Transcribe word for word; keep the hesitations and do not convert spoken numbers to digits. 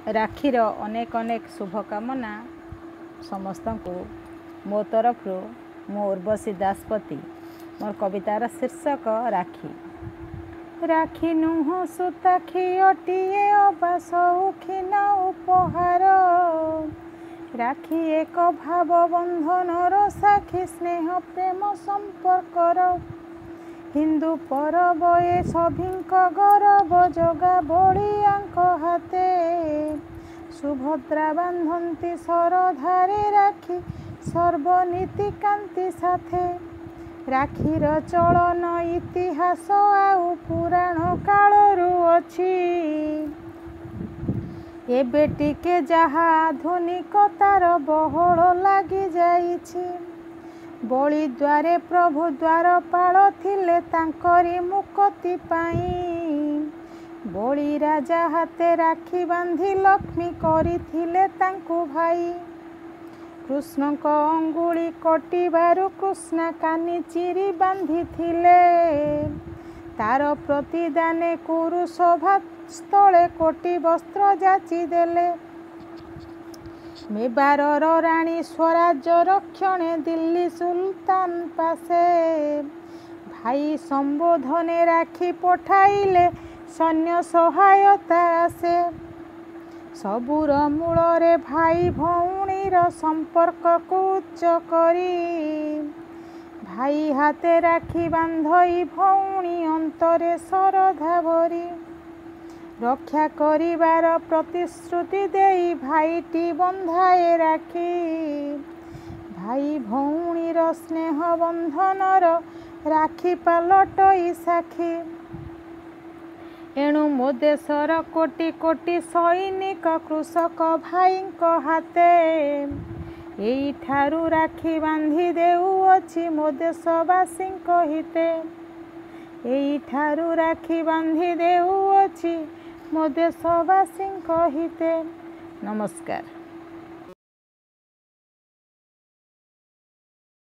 ରାକ୍ଷୀର ଅନେକ ଅନେକ ଶୁଭକାମନା ସମସ୍ତଙ୍କୁ ମୋ ତରଫରୁ। ମୁଁ ଉର୍ବଶୀ ଦାସପତି। ମୋର କବିତାର ଶୀର୍ଷକ ରାକ୍ଷୀ। ରାକ୍ଷୀ ନୁହଁ ସୂତା ଖିଅଟିଏ ଅବା ସଉଖିନ ଉପହାର, ରାକ୍ଷୀ ଏକ ଭାବ ବନ୍ଧନର ସାକ୍ଷୀ, ସ୍ନେହ ପ୍ରେମ ସମ୍ପର୍କର। ହିନ୍ଦୁ ପରବ ଏ ସଭିଙ୍କ ଗରବ, ଜଗା ବଳିଆଙ୍କ ହାତେ ସୁଭଦ୍ରା ବାନ୍ଧନ୍ତି ଶରଧାରେ ରାକ୍ଷୀ, ସର୍ବନୀତିକାନ୍ତି ସାଥେ। ରାକ୍ଷୀର ଚଳନ ଇତିହାସ ଆଉ ପୁରାଣ କାଳରୁ ଅଛି, ଏବେ ଟିକେ ଯାହା ଆଧୁନିକତାର ବହଳ ଲାଗିଯାଇଛି। ବଳି ଦ୍ୱାରେ ପ୍ରଭୁ ଦ୍ୱାରପାଳ ଥିଲେ ତାଙ୍କରି ମୁକତି ପାଇଁ, ବଳି ରାଜା ହାତେ ରାକ୍ଷୀ ବାନ୍ଧି ଲକ୍ଷ୍ମୀ କରିଥିଲେ ତାଙ୍କୁ ଭାଇ। କୃଷ୍ଣଙ୍କ ଅଙ୍ଗୁଳି କଟିବାରୁ କୃଷ୍ଣା କାନି ଚିରି ବାନ୍ଧିଥିଲେ, ତାର ପ୍ରତିଦାନେ କୁରୁ ସଭା ସ୍ଥଳେ କୋଟି ବସ୍ତ୍ର ଯାଚି ଦେଲେ। ମେବାରର ରାଣୀ ସ୍ୱରାଜ ରକ୍ଷଣେ ଦିଲ୍ଲୀ ସୁଲତାନ ପାଶେ, ଭାଇ ସମ୍ବୋଧନେ ରାକ୍ଷୀ ପଠାଇଲେ ସୈନ୍ୟ ସହାୟତା ଆସେ। ସବୁର ମୂଳରେ ଭାଇ ଭଉଣୀର ସମ୍ପର୍କକୁ ଉଚ୍ଚ କରି, ଭାଇ ହାତେ ରାକ୍ଷୀ ବାନ୍ଧଇ ଭଉଣୀ ଅନ୍ତରେ ଶରଧା ଭରି। ରକ୍ଷା କରିବାର ପ୍ରତିଶ୍ରୁତି ଦେଇ ଭାଇଟି ବନ୍ଧାଏ ରାକ୍ଷୀ, ଭାଇ ଭଉଣୀର ସ୍ନେହ ବନ୍ଧନର ରାକ୍ଷୀ ପାଲଟଇ ସାକ୍ଷୀ। ଏଣୁ ମୋ ଦେଶର କୋଟି କୋଟି ସୈନିକ କୃଷକ ଭାଇଙ୍କ ହାତେ, ଏଇଠାରୁ ରାକ୍ଷୀ ବାନ୍ଧି ଦେଉଅଛି ମୋ ଦେଶବାସୀଙ୍କ ହିତେ। ଏଇଠାରୁ ରାକ୍ଷୀ ବାନ୍ଧି ଦେଉଅଛି ମୋ ଦେଶବାସୀଙ୍କ ହିତେ। ନମସ୍କାର।